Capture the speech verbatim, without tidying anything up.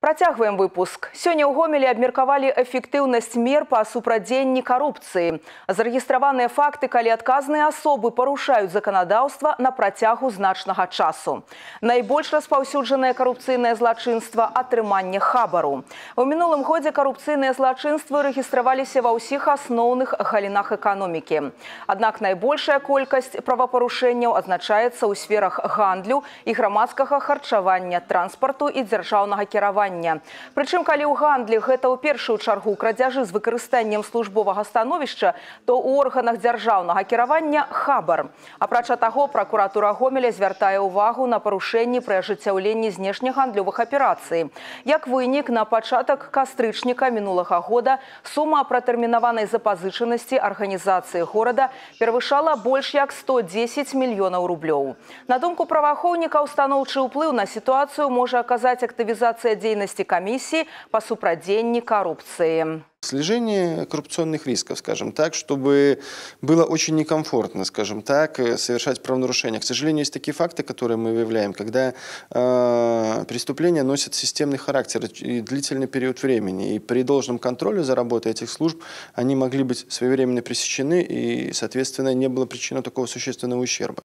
Працягваем выпуск. Сёння ў Гомелі абмеркавалі эфектыўнасць мер па супрадзенні карупцыі. Зарэгістраваныя факты, калі адказныя асобы парушаюць заканадаўства на працягу значнага часу. Найбольш распаўсюджанае карупцыйнае злачынства – атрыманне хабару. У мінулым годзе карупцыйныя злачынствы рэгістраваліся ва ўсіх асноўных галінах эканомікі. Аднак найбольшая колькасць правапарушэнняў адзначаецца ў сферах гандлю і грамадскага харчавання, транспарту і дзяржаўнага кіравання. Прычым, калі ў гандлі гэта ў першую чаргу крадзяжы з выкарыстаннем службовага становішча, то ў органах дзяржаўнага кіравання хабар. Апрача таго, пракуратура Гомеля звяртае ўвагу на парушэнні пры ажыццяўленні знешнегандлёвых аперацый. Як вынік, на пачатак кастрычніка мінулага года сума пратэрмінаванай запазычанасці арганізацыі горада перавышала больш як сто дзесяць мільёнаў рублёў. На думку праваахоўнікаў, станоўчы ўплыў на сітуацыю можа аказаць актывізацыя дзейнасці комиссии по супрадзенні коррупции. Снижение коррупционных рисков, скажем так, чтобы было очень некомфортно, скажем так, совершать правонарушения. К сожалению, есть такие факты, которые мы выявляем, когда э, преступления носят системный характер и длительный период времени. И при должном контроле за работой этих служб они могли быть своевременно пресечены, и, соответственно, не было причины такого существенного ущерба.